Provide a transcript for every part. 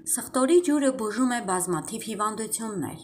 Սխտորի ջուրը բուժում է բազմաթիվ հիվանդություններ։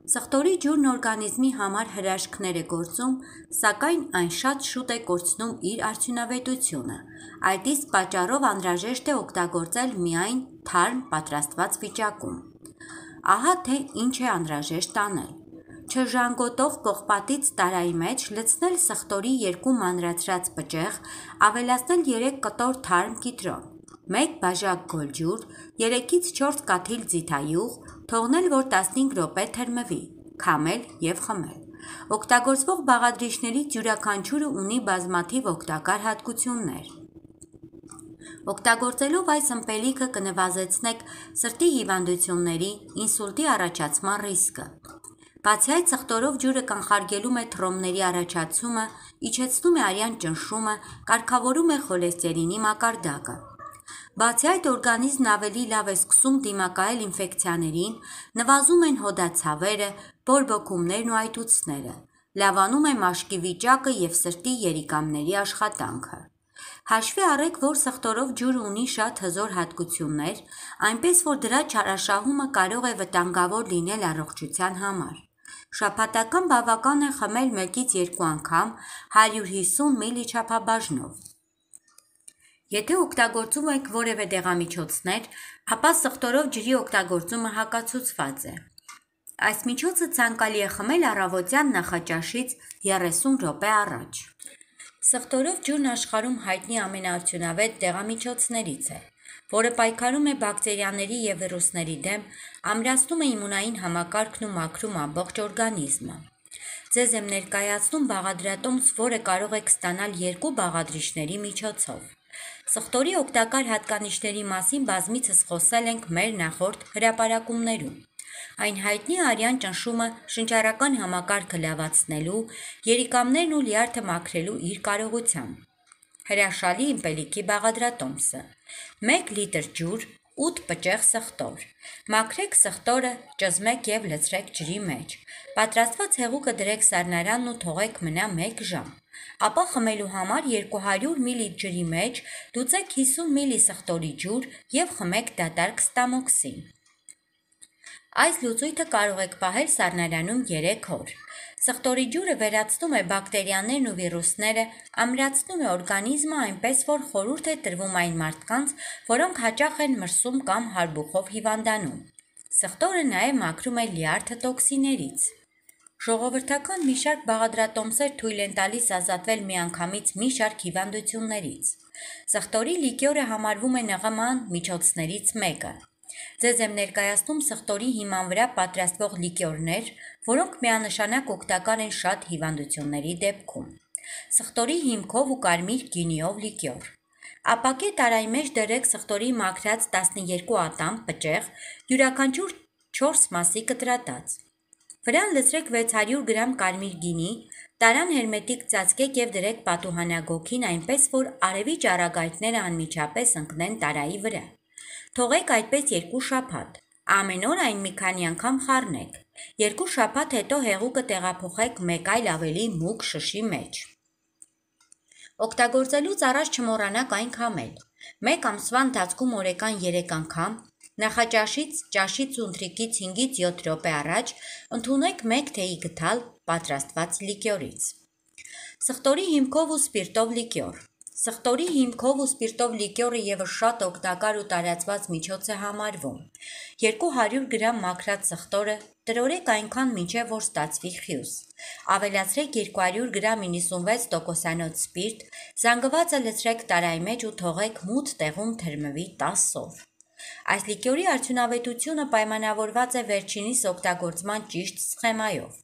Սխտորի ջուրն օրգանիզմի համար հրաշքներ է գործում, սակայն այն շատ շուտ է կորցնում իր արդյունավետությունը։ Այդ իսկ պատճառով անհրաժեշտ է օգտագործել միայն թարմ պատրաստված վիճակում։ Ահա թե ինչ է անհրաժեշտ անել։ Չժանգոտող պողպատից տարայի մեջ լցնել սխտորի 2 մանրացրած պճեղ, ավելացնել 3 կտոր թարմ կիտրոն, 1 բաժակ գոլջուր, 3-ից 4 կաթիլ ձիթայուղ, թողնել, որ 15 րոպե թրմվի, քամել և խմել։ Օգտագործվող բաղադրիչներից յուրաքանչյուրը ունի բազմաթիվ օգտակար հատկություններ։ Օգտագործելով այս ըմպելիքը կնվազեցնեք սրտի հիվանդությունների, ինսուլտի առաջացման ռիսկը։ Բացի այդ, սխտորով ջուրը կանխարգելում է թռոմների առաջացումը, իջեցնում է արյան ճնշումը, կարգավորում է խոլեստերինի մակարդակը։ Բացի այդ, օրգանիզմն ավելի լավ է սկսում դիմակայել ինֆեկցիաներին, նվազում են հոդացավերը, բորբոքումներն ու այտուցները, լավանում է մաշկի վիճակը և սրտի երիկամների աշխատանքը։ Հաշվի առեք, որ սխտորով ջուրը ունի շատ հզոր հատկություններ, այնպես որ դրա չարաշահումը կարող է վտանգավոր լինել առողջության համար։ Շաբաթական բավական է խմել 1-ից 2 անգամ 150 մլ չափաբաժնով։ Եթե օգտագործում եք որևէ դեղամիջոցներ, ապա սխտորով ջրի օգտագործումը հակացուցված է։ Այս միջոցը ցանկալի է խմել առավոտյան նախաճաշից 30 րոպե առաջ։ Սխտորով ջուրն աշխարհում հայտնի ամենաարդյունավետ դեղամիջոցներից է, որը պայքարում է բակտերիաների և վիրուսների դեմ, ամրացնում է իմունային համակարգն ու մաքրում ամբողջ օրգանիզմը։ Ձեզ եմ ներկայացնում բաղադրատոմս, որը կարող եք ստանալ 2 բաղադրիչների միջոցով։ Սխտորի օգտակար հատկանիշների մասին բազմիցս խոսել ենք մեր նախորդ հրապարակումներում։ Այն հայտնի է արյան ճնշումը շնչառական համակարգը լավացնելու, երիկամներն ու լյարդը մաքրելու իր կարողությամբ։ Հրաշալի ըմպելիքի բաղադրատոմսը։ 1 լիտր ջուր, 8 պճեղ սխտոր։ Մաքրեք սխտորը, ճզմեք և լցրեք ջրի մեջ։ Պատրաստված հեղուկը դրեք սառնարանն ու թողեք մնա 1 ժամ։ Ապա խմելու համար 200 մլ ջրի մեջ լուծեք 50 մլ սխտորի ջուր և խմեք դատարկ ստամոքսին։ Այս լուծույթը կարող եք պահել սառնարանում 3 օր։ Սխտորի ջուրը վերացնում է բակտերիաներն ու վիրուսները, ամրացնում է օրգանիզմը, այնպես որ խորհուրդ է տրվում այն մարդկանց, որոնք հաճախ են մրսում կամ հարբուխով հիվանդանում։ Սխտորը նաև մաքրում է լյարդը տոքսիններից։ Ժողովրդական մի շարք բաղադրատոմսեր թույլ են տալիս ազատվել միանգամից մի շարք հիվանդություններից։ Սխտորի լիկյորը համարվում է ՆՂՄ միջոցներից մեկը։ Ձեզ եմ ներկայացնում սխտորի հիման վրա պատրաստվող լիկյորներ, որոնք միանշանակ օգտակար են շատ հիվանդությունների դեպքում։ Սխտորի հիմքով ու կարմիր գինիով լիկյոր։ Ապակե տարայի մեջ դրեք սխտորի մաքրած 12 ատամ պճեղ, յուրաքանչյուր 4 մասի կտրատած։ Վրան լցրեք 600 գրամ կարմիր գինի, տարան հերմետիկ ծածկեք և դրեք պատուհանագոգին, այնպես որ արևի ճառագայթները անմիջապես ընկնեն տարայի վրա։ Թողեք այդպես 2 շաբաթ։ Ամեն օր այն մի քանի անգամ խառնեք։ 2 շաբաթ հետո հեղուկը տեղափոխեք մեկ այլ ավելի մուգ շշի մեջ։ Օգտագործելուց առաջ չմոռանաք այն քամել։ 1 ամսվա ընթացքում օրեկան 3 անգամ, նախաճաշից, ճաշից ու ընթրիքից 5-ից 7 րոպե առաջ ընդունեք 1 թեյի գդալ պատրաստված լիկյորից։ Սխտորի հիմքով ու սպիրտով լիկյոր։ Սխտորի հիմքով ու սպիրտով լիկյորը ևս շատ օգտակար ու տարածված միջոց է համարվում։ 200 գրամ մաքրած սխտորը տրորեք այնքան մինչև որ ստացվի խյուս։ Ավելացրեք 200 գրամ 96% սպիրտ, զանգվածը լցրեք տարայի մեջ ու թողեք մութ տեղում թրմվի 10 օր։ Այս լիկյորի արդյունավետությունը պայմանավորված է վերջինիս օգտագործման ճիշտ սխեմայով։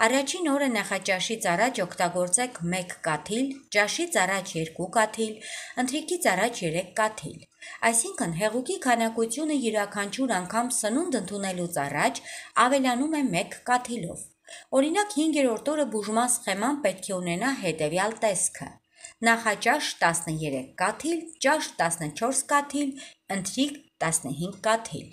Առաջին օրը նախաճաշից առաջ օգտագործեք 1 կաթիլ, ճաշից առաջ 2 կաթիլ, ընթրիքից առաջ 3 կաթիլ։ Այսինքն հեղուկի քանակությունը յուրաքանչյուր անգամ սնունդ ընդունելուց առաջ ավելանում է 1 կաթիլով։ Օրինակ 5-րդ օրը բուժման սխեման պետք է ունենա հետևյալ տեսքը։ Նախաճաշ 13 կաթիլ, ճաշ 14 կաթիլ, ընթրիք 15 կաթիլ։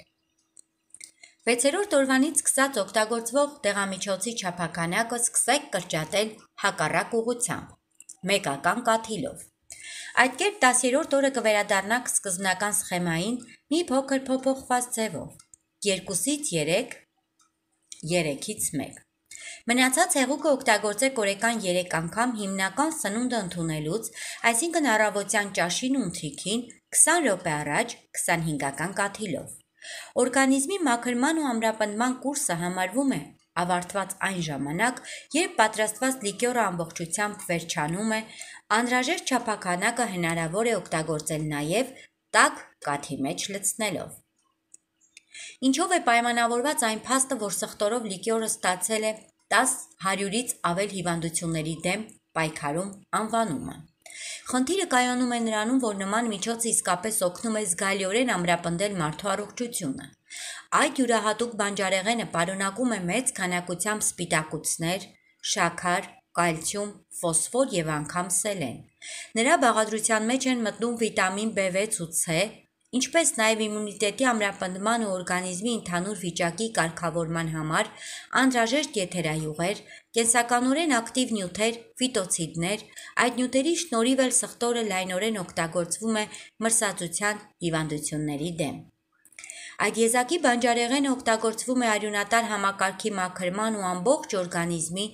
6-րդ օրվանից սկսած օգտագործվող դեղամիջոցի չափաքանակը սկսեք կրճատել հակառակ ուղղությամբ՝ մեկական կաթիլով։ Այդ կերպ 10-րդ օրը կվերադառնանք սկզբնական սխեմային մի փոքր փոփոխված ձևով 2-ից 3, 3-ից 1։ Մնացած հեղուկը օգտագործեք օրեկան 3 անգամ հիմնական սնունդը ընդունելուց, այսինքն առավոտյան ճաշին ու ընթրիքին 20 րոպե առաջ 25-ական կաթիլով։ Օրգանիզմի մաքրման ու ամրապնդման կուրսը համարվում է ավարտված այն ժամանակ, երբ պատրաստված լիկյորը ամբողջությամբ վերջանում է, անհրաժեշտ չափաքանակը հնարավոր է օգտագործել նաև տաք կաթի մեջ լցնելով։ Ինչով է պայմանավորված այն փաստը, որ սխտորով լիկյորը ստացել է 10-100-ից ավել հիվանդությունների դեմ պայքարում անվանումը։ Խնդիրը կայանում է նրանում, որ նման միջոցը իսկապես օգնում է զգալիորեն ամրապնդել մարդու առողջությունը։ Այդ յուրահատուկ բանջարեղենը պարունակում է մեծ քանակությամբ սպիտակուցներ, շաքար, կալցիում, ֆոսֆոր և անգամ սելեն։ Նրա բաղադրության մեջ են մտնում վիտամին B6 ու C, ինչպես նաև իմունիտետի ամրապնդման ու օրգանիզմի ընդհանուր վիճակի կարգավորման համար անհրաժեշտ եթերայուղեր, կենսականորեն ակտիվ նյութեր, ֆիտոցիդներ, այդ նյութերի շնորհիվ էլ սխտորը լայնորեն օգտագործվում է մրսածության հիվանդությունների դեմ։ Այդ եզակի բանջարեղենը օգտագործվում է արյունատար համակարգի մաքրման ու ամբողջ օրգանիզմի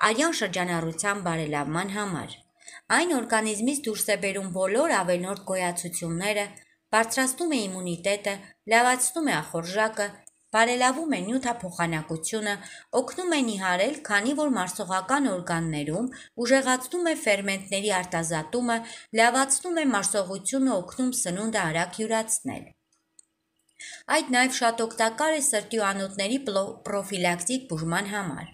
արյան շրջանառության բարելավման համար։ Այն օրգանիզմից դուրս է բերում բոլոր ավելորդ գոյացությունները, բարձրացնում է իմունիտետը, լավացնում է ախորժակը, բարելավում է նյութափոխանակությունը, օգնում է նիհարել, քանի որ մարսողական օրգաններում ուժեղացնում է ֆերմենտների արտազատումը, լավացնում է մարսողությունը, օգնում սնունդը արագ յուրացնել։ Այդ նաև շատ օգտակար է սրտի ու անոթների պրոֆիլակտիկ բուժման համար։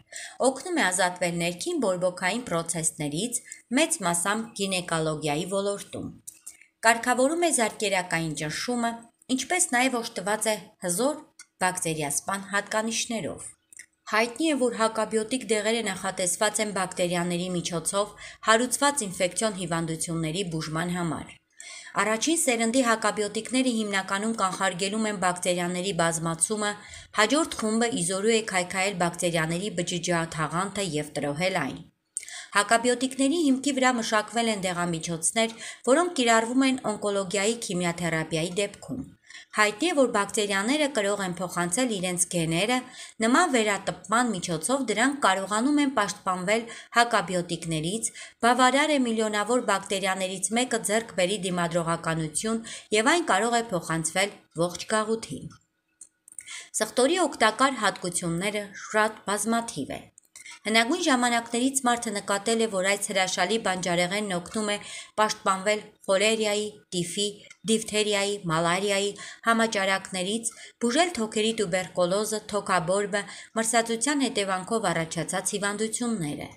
Օգնում է ազատվել ներքին բորբոքային պրոցեսներից, մեծ մասամբ գինեկոլոգիայի ոլորտում։ Կարգավորում է զարկերակային ճնշումը, ինչպես նաև օժտված է հզոր բակտերիասպան հատկանիշներով։ Հայտնի է, որ հակաբիոտիկ դեղերը նախատեսված են բակտերիաների միջոցով հարուցված ինֆեկցիոն հիվանդությունների բուժման համար։ Առաջին սերնդի հակաբիոտիկները հիմնականում կանխարգելում են բակտերիաների բազմացումը, հաջորդ խումբը իզորու է քայքայել բակտերիաների բջջաթաղանթը և տրոհել այն։ Հակաբիոտիկների հիմքի վրա մշակվել են դեղամիջոցներ, որոնք կիրառվում են օնկոլոգիայի քիմիաթերապիայի դեպքում։ Հայտնի է, որ բակտերիաները կրող են փոխանցել իրենց գեները, նման վերատպման միջոցով դրանք կարողանում են պաշտպանվել հակաբիոտիկներից, բավարար է միլիոնավոր բակտերիաներից մեկը ձեռք բերի դիմադրողականություն և այն կարող է փոխանցվել ողջ գաղութին։ Սխտորի օգտակար հատկությունները շատ բազմաթիվ են։ Հնագույն ժամանակներից մարդը նկատել է, որ այս հրաշալի բանջարեղենն օգնում է պաշտպանվել խոլերիայի, տիֆի, դիֆթերիայի, մալարիայի, համաճարակներից, բուժել թոքերի տուբերկուլոզը, թոքաբորբը, մրսածության հետևանքով առաջացած հիվանդությունները։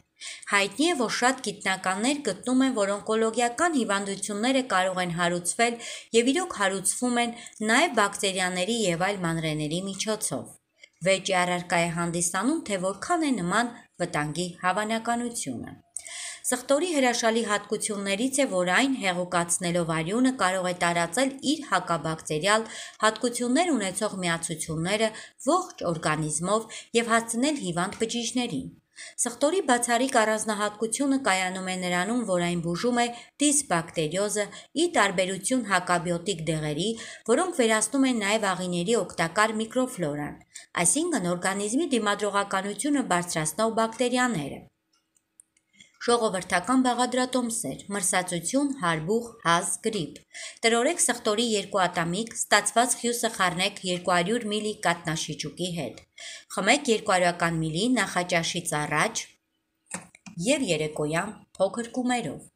Հայտնի է, որ շատ գիտնականներ գտնում են, որ օնկոլոգիական հիվանդությունները կարող են հարուցվել և իրոք հարուցվում են նաև բակտերիաների և այլ մանրէների միջոցով։ Վեճի առարկա է հանդիսանում, թե որքան է նման վտանգի հավանականությունը։ Սխտորի հրաշալի հատկություններից է, որ այն հեղուկացնելով արյունը կարող է տարածել իր հակաբակտերիալ հատկություններ ունեցող միացությունները ողջ օրգանիզմով և հասցնել հիվանդ բջիջներին։ Սխտորի բացառիկ առանձնահատկությունը կայանում է նրանում, որ այն բուժում է դիսբակտերիոզը, ի տարբերություն հակաբիոտիկ դեղերի, որոնք վերացնում են նաև աղիների օգտակար միկրոֆլորան, այսինքն օրգանիզմի դիմադրողականությունը բարձրացնող բակտերիաները։ Ժողովրդական բաղադրատոմսեր, մրսածություն, հարբուխ, հազ, գրիպ։ Տրորեք սխտորի 2 ատամիկ, ստացված խյուսը խառնեք 200 մլ կաթնաշիճուկի հետ։ Խմեք 200 մլ նախաճաշից առաջ և երեկոյան փոքր կումերով։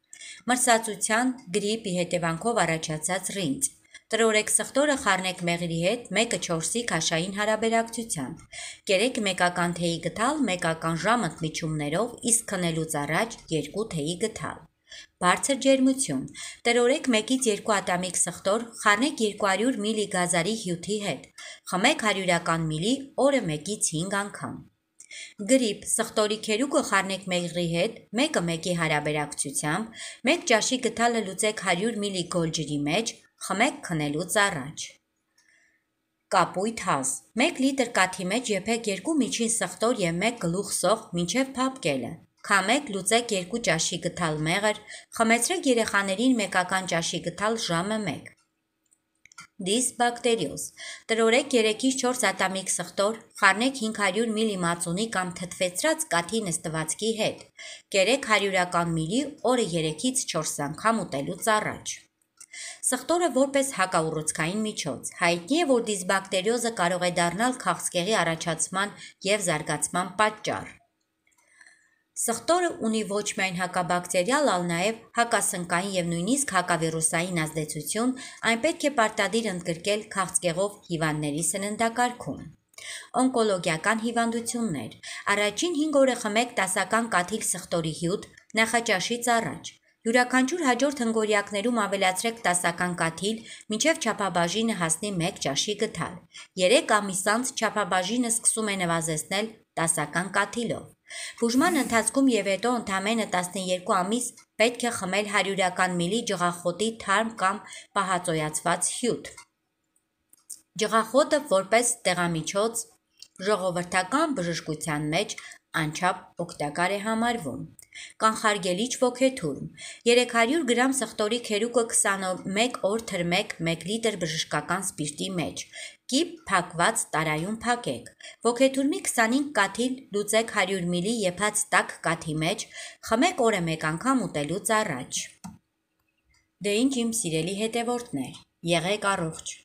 Մրսածության, գրիպի հետևանքով առաջացած ռինց։ Տրորեք սխտորը խառնեք մեղրի հետ 1:4-ի քաշային հարաբերակցությամբ։ Կերեք մեկական թեյի գդալ 1 ժամ ընդմիջումներով, իսկ քնելուց առաջ 2 թեյի գդալ։ Բարձր ջերմություն։ Տրորեք 1-ից 2 ատամիկ սխտոր, խառնեք 200 մլ գազարի հյութի հետ։ Խմեք 100 մլ օրը 1-ից 5 անգամ։ Գրիպ, սխտորի քերուկը խառնեք մեղրի հետ 1:1-ի հարաբերակցությամբ, 1 ճաշի գդալը լուծեք 100 մլ գոլ ջրի մեջ, խմեք քնելուց առաջ։ Կապույտ հազ, 1 լիտր կաթի մեջ եփեք 2 միջին սխտոր և 1 գլուխ սոխ մինչև փափկելը։ Քամեք, լուծեք 2 ճաշի գթալ մեղր, խմեցրեք երեխաներին մեկական ճաշի գթալ ժամը 1։ Դիսբակտերիոզ։ Տրորեք 3-ից 4 ատամիկ սխտոր, խառնեք 500 մլ մածունի կամ թթվեցրած կաթի նստվածքի հետ։ Կերեք 100 մլ օրը 3-ից 4 անգամ ուտելուց առաջ։ Սխտորը որպես հակաուռուցքային միջոց։ Հայտնի է, որ դիսբակտերիոզը կարող է դառնալ քաղցկեղի առաջացման և զարգացման պատճառ։ Սխտորը ունի ոչ միայն հակաբակտերիալ, այլ նաև հակասնկային և նույնիսկ հակավիրուսային ազդեցություն, այն պետք է պարտադիր ընդգրկել քաղցկեղով հիվանդների սննդակարգում։ Օնկոլոգիական հիվանդություններ։ Առաջին 5 օրը խմեք տասական կաթիլ սխտորի հյութ նախաճաշից առաջ։ Յուրաքանչյուր հաջորդ հնգօրյակներում ավելացրեք տասական կաթիլ, մինչև չափաբաժինը հասնի 1 ճաշի գթալ։ 3 ամիս անց չափաբաժինը սկսում է նվազեցնել տասական կաթիլով։ Բուժման ընթացքում և հետո ընդամենը 12 ամիս պետք է խմել 100 մլ ջղախոտի թարմ կամ պահածոյացված հյութ։ Ջղախոտը որպես տեղամիջոց ժողովրդական բժշկության մեջ անչափ օգտակար է համարվում։ Կանխարգելիչ ոգեթուրմ։ 300 գրամ սխտորի քերուկը 21 օր թրմեք 1 լիտր բժշկական սպիրտի մեջ։ Կիպ փակված տարայում փակեք։ Ոգեթուրմի 25 կաթիլ լուծեք 100 մլ եփած տաք կաթի մեջ, խմեք օրը 1 անգամ ուտելուց առաջ։ Դե ինչ իմ սիրելի հետևորդներ, եղեք առողջ։